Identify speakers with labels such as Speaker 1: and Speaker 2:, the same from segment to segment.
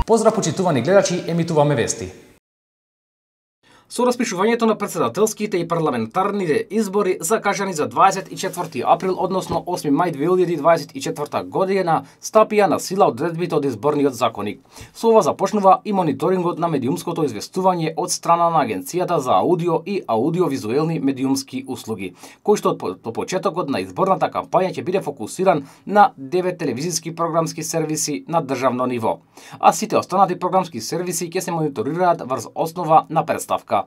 Speaker 1: Поздрав почитувани гледачи, емитуваме вести. Со распишувањето на претседателските и парламентарните избори закажани за 24 април, односно 8 мај 2024 година, стапија на сила одредбите од изборниот законник. Со ова започнува и мониторингот на медиумското известување од страна на Агенцијата за аудио и аудиовизуелни медиумски услуги, кој што од почетокот на изборната кампања ќе биде фокусиран на 9 телевизиски програмски сервиси на државно ниво, а сите останати програмски сервиси ќе се мониторираат врз основа на претставка.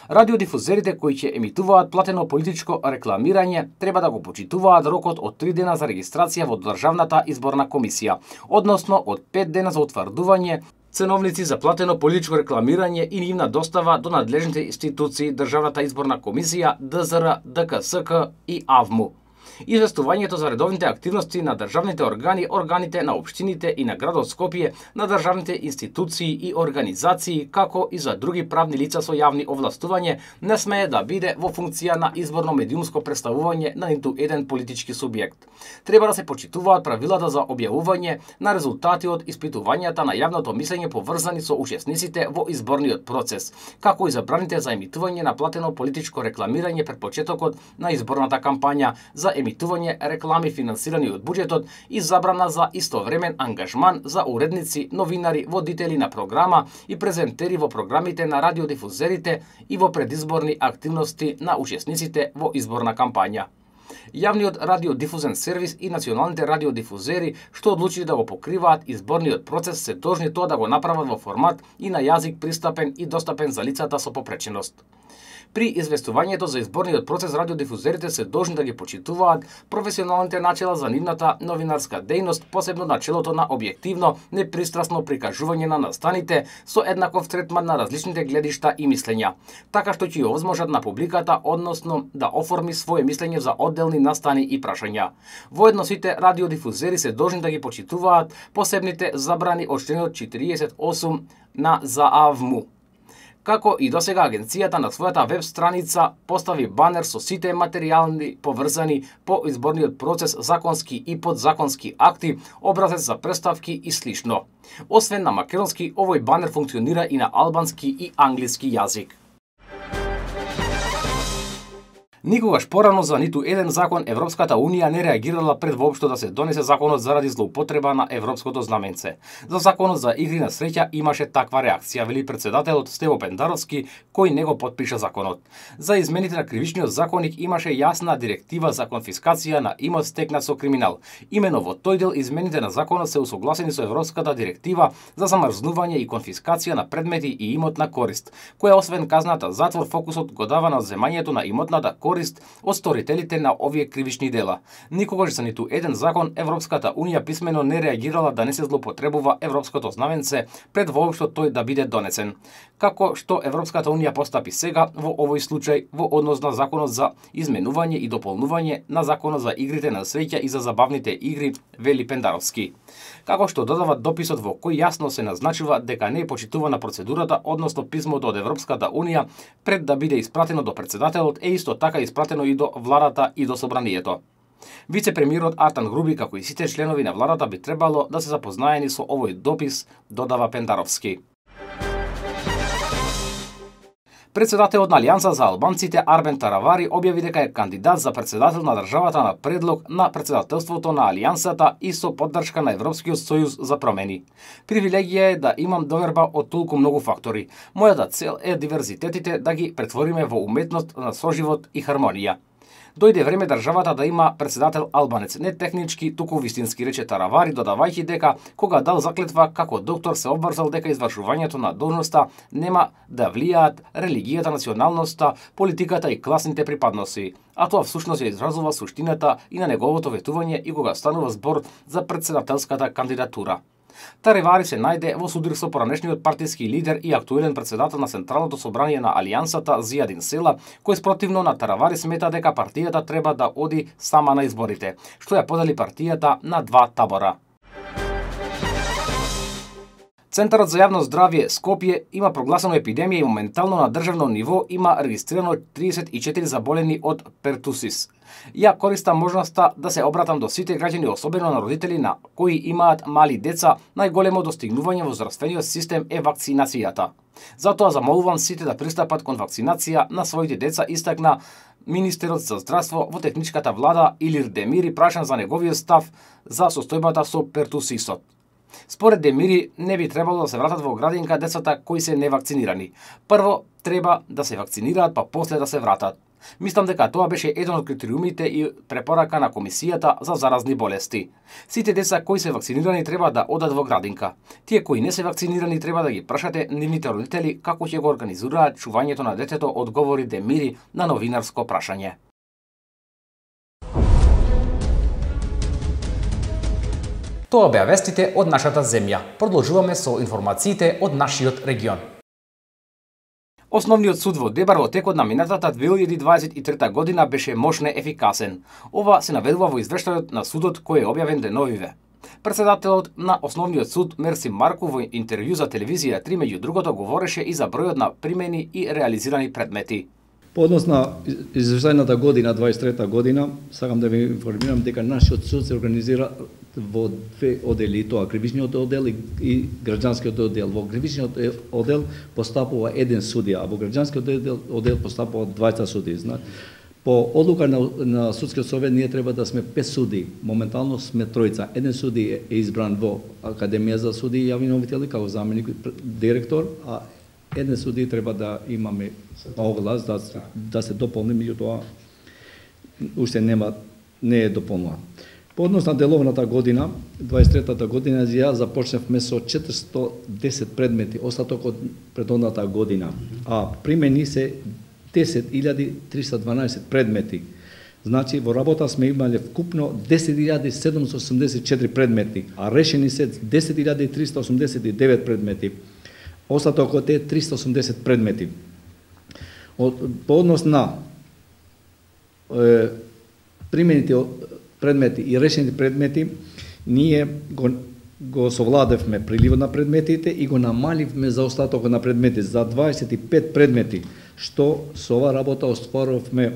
Speaker 1: Радиодифузерите кои ќе емитуваат платено политичко рекламирање треба да го почитуваат рокот од 3 дена за регистрација во Државната изборна комисија, односно од 5 дена за утврдување ценовници за платено политичко рекламирање и нивна достава до надлежните институции Државната изборна комисија, ДЗР, ДКСК и АВМУ. Известувањето за редовните активности на државните органи, органите на општините и на градот Скопје, на државните институции и организации, како и за други правни лица со јавни овластување, не смее да биде во функција на изборно медиумско представување на ниту еден политички субјект. Треба да се почитуваат правилата за објавување на резултати од испитувањата на јавното мислење поврзани со учесниците во изборниот процес, како и забраните за емитување на платено политичко рекламирање пред почетокот на изборната кампања, за емитување реклами финансирани од буџетот и забрана за истовремен ангажман за уредници, новинари, водители на програма и презентери во програмите на радиодифузерите и во предизборни активности на учесниците во изборна кампања. Јавниот радиодифузен сервис и националните радиодифузери што одлучили да го покриваат изборниот процес се должни тоа да го направат во формат и на јазик пристапен и достапен за лицата со попреченост. При известувањето за изборниот процес радиодифузерите се должни да ги почитуваат професионалните начела за нивната новинарска дејност, посебно начелото на објективно, непристрасно прикажување на настаните со еднаков третман на различните гледишта и мислења, така што ќе овозможат на публиката, односно да оформи свое мислење за одделни настани и прашања. Воедно сите радиодифузери се должни да ги почитуваат посебните забрани од членот 48 на ЗАВМУ. Како и досега, агенцијата на својата веб страница постави банер со сите материјални поврзани по изборниот процес, законски и подзаконски акти, образец за представки и слично. Освен на македонски, овој банер функционира и на албански и англиски јазик. Никогаш порано за ниту еден закон Европската Унија не реагирала пред воопшто да се донесе законот заради злоупотреба на европското знаменце. За законот за игри на среќа имаше таква реакција, вели претседателот Стево Пендаровски, кој не го потпиша законот. За измените на кривичниот законник имаше јасна директива за конфискација на имот стекнат со криминал. Имено во тој дел измените на законот се усогласени со Европската директива за замрзнување и конфискација на предмети и имотна корист, која освен казната затвор, фокусот го дава на земањето на имотната корист од сторителите на овие кривични дела. Никогаш за ниту еден закон Европската Унија писмено не реагирала да не се злоупотребува европското знаменце пред воопшто тој да биде донесен. Како што Европската Унија постапи сега во овој случај во однос на законот за изменување и дополнување на законот за игрите на среќа и за забавните игри, вели Пендаровски. Како што додава дописот во кој јасно се назначува дека не е почитувана процедурата, односно писмото од Европската Унија пред да биде испратено до претседателот е исто така испратено и до владата и до собранието. Вице-премиерот Артан Груби, како и сите членови на владата, би требало да се запознаени со овој допис, додава Пендаровски. Председателот на Алијанса за албанците Арбен Таравари објави дека е кандидат за председател на државата на предлог на председателството на Алијансата и со поддршка на Европскиот сојуз за промени. Привилегија е да имам доверба од толку многу фактори. Мојата цел е диверзитетите да ги претвориме во уметност на соживот и хармонија. Дојде време државата да има председател албанец, не технички, туку вистински, рече Таравари, додавајќи дека кога дал заклетва како доктор се обврзал дека извршувањето на должноста нема да влијаат религијата, националноста, политиката и класните припадности. А тоа всушност ја изразува суштината и на неговото ветување и кога станува збор за председателската кандидатура. Таравари се најде во судир со поранешниот партиски лидер и актуелен председател на Централното собрание на Алијансата Зијадин Села, кој спротивно на Таравари смета дека партијата треба да оди сама на изборите, што ја подели партијата на два табора. Центарот за јавно здравје Скопје има прогласено епидемија и моментално на државно ниво има регистрирано 34 заболени од пертусис. Ја користам можноста да се обратам до сите граѓани, особено на родители на кои имаат мали деца. Најголемо достигнување во здравствениот систем е вакцинацијата. Затоа замолувам сите да пристапат кон вакцинација на своите деца, истакна министерот за здравство во техничката влада Илир Демири, прашан за неговиот став за состојбата со пертусисот. Според Демири, не би требало да се вратат во градинка децата кои се невакцинирани. Прво треба да се вакцинираат, па после да се вратат. Мислам дека тоа беше еден од критериумите и препорака на Комисијата за заразни болести. Сите деца кои се вакцинирани треба да одат во градинка. Тие кои не се вакцинирани треба да ги прашате нивните родители како ќе го организираат чувањето на детето, одговори Демири на новинарско прашање. Тоа беа вестите од нашата земја. Продолжуваме со информациите од нашиот регион. Основниот суд во Дебар во текот на минатата 2023 година беше мощно ефикасен. Ова се наведува во извештајот на судот кој е објавен деновиве. Председателот на Основниот суд Мерсим Марков во интервју за телевизија 3 меѓу другото говореше и за бројот на примени и реализирани предмети.
Speaker 2: По однос на извештајната година, 23 година, сакам да ви информирам дека нашиот суд се организира во две одели, тоа кривичниот одел и граѓанскиот одел. Во кривичниот одел постапува еден судија, а во граѓанскиот одел постапува двајца судии. По одлука на судскиот совет ние треба да сме 5 судии. Моментално сме тројца. Еден суди е избран во Академија за судии и јавни обвинители како заменик директор, а еден суди треба да имаме оглас да се дополни, меѓутоа уште не е дополнува. По однос на деловната година, 23-та година, ја започнавме со 410 предмети, остаток од предходната година, а примени се 10.312 предмети. Значи, во работа сме имале вкупно 10.784 предмети, а решени се 10.389 предмети. Остатокот е 380 предмети. По однос на примените предмети и решените предмети, ние го совладевме приливот на предметите и го намаливме за остатокот на предмети за 25 предмети, што со ова работа остварувавме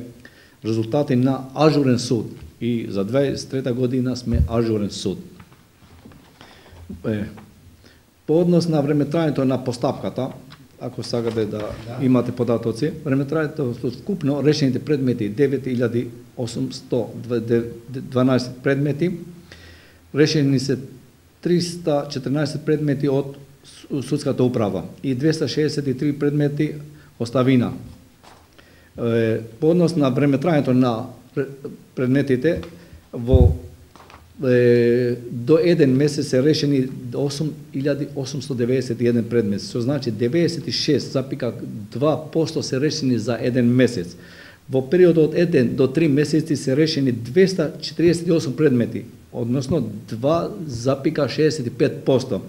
Speaker 2: резултати на ажурен суд. И за 23 година сме ажурен суд. По однос на времетрајањето на постапката, ако сакате да имате податоци, времетрајањето вкупно решените предмети 9.812 предмети, решени се 314 предмети од судската управа и 263 предмети оставина. По однос на времетрајањето на предметите до еден месец се решени 8.891 предмет, што значи 96,2% се решени за еден месец. Во периодот од 1 до 3 месеци се решени 248 предмети, односно 2,65%.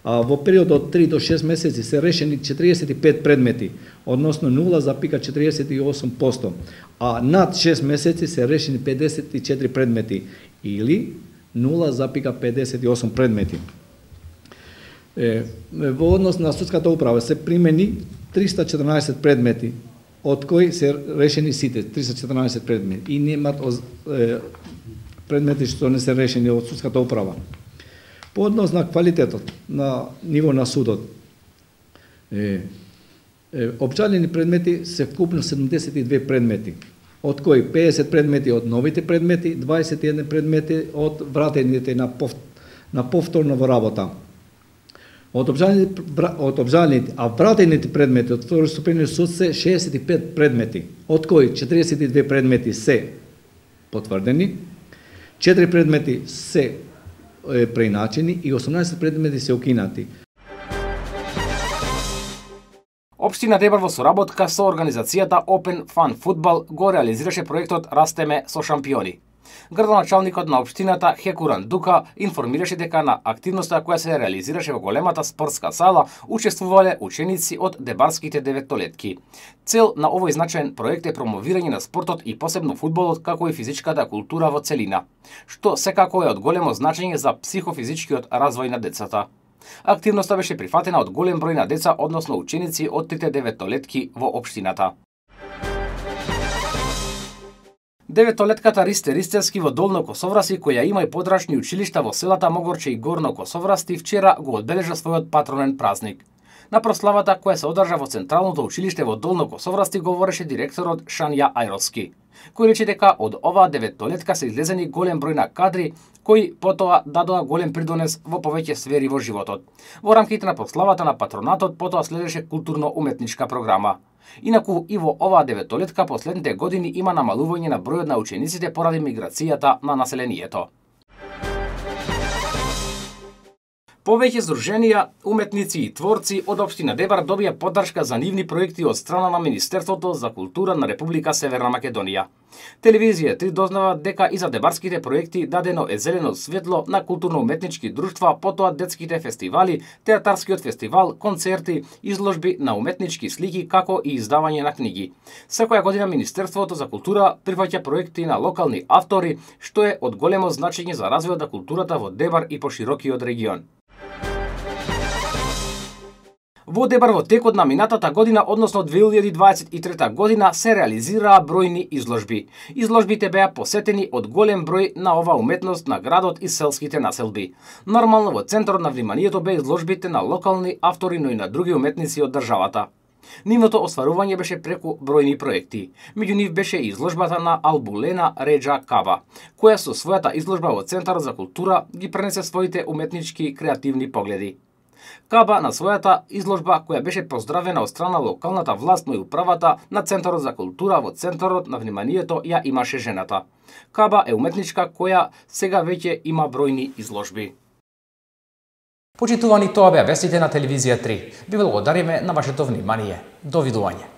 Speaker 2: А во периодот од 3 до 6 месеци се решени 45 предмети, односно 0,48%. А над 6 месеци се решени 54 предмети, или 0,58 предмети. Во однос на судската управа се примени 314 предмети, од кои се решени сите 314 предмети и немат предмети што не се решени од судската управа. По однос на квалитетот на ниво на судот, обжалени предмети се вкупно 72 предмети, од кои 50 предмети од новите предмети, 21 предмети од вратените на повторно во работа. Од обжалените, а вратените предмети од второстепениот суд се 65 предмети, од кои 42 предмети се потврдени, 4 предмети се преиначени и 18 предмети се укинати.
Speaker 1: Општина Дебар во соработка со организацијата Open Fun Football го реализираше проектот Растеме со шампиони. Градоначалникот на општината Хекуран Дука информираше дека на активноста која се реализираше во големата спортска сала учествувале ученици од дебарските деветолетки. Цел на овој значаен проект е промовирање на спортот и посебно фудбалот како и физичката култура во целина, што секако е од големо значење за психофизичкиот развој на децата. Активноста беше прифатена од голем број на деца, односно ученици од трите деветолетки во општината. Деветолетката Ристе Ристевски во Долно Косовраси, која има и подрачни училишта во селата Могорче и Горно Косоврасти, вчера го одбележа својот патронен празник. На прославата која се одржа во Централното училиште во Долно Косоврасти говореше директорот Шања Ајровски, кој рече дека од оваа деветолетка се излезени голем број на кадри кои потоа дадоа голем придонес во повеќе сфери во животот. Во рамките на прославата на патронатот потоа следеше културно-уметничка програма. Инаку и во оваа деветолетка последните години има намалување на бројот на учениците поради миграцијата на населението. Повеќе здруженија, уметници и творци од општина Дебар добија поддршка за нивни проекти од страна на Министерството за култура на Република Северна Македонија. Телевизија 3 дознава дека и за дебарските проекти дадено е зелено светло на културно-уметнички друштва, потоа детските фестивали, театарскиот фестивал, концерти, изложби на уметнички слики, како и издавање на книги. Секоја година Министерството за култура прифаќа проекти на локални автори, што е од големо значење за развојот на културата во Дебар и поширокиот регион. Во Дебар во текот на минатата година, односно 2023 година, се реализираа бројни изложби. Изложбите беа посетени од голем број на ова уметност на градот и селските населби. Нормално во центарот на вниманието беа изложбите на локални автори, но и на други уметници од државата. Нивното остварување беше преку бројни проекти. Меѓу нив беше и изложбата на Албулена Реджа Каба, која со својата изложба во Центарот за култура ги пренесе своите уметнички креативни погледи. Каба на својата изложба, која беше поздравена од страна локалната власт, но и управата на Центарот за култура, во центарот на вниманието ја имаше жената. Каба е уметничка која сега веќе има бројни изложби. Почитувани, тоа беа вестите на телевизија 3. Ви благодариме на вашето внимание. Довидување.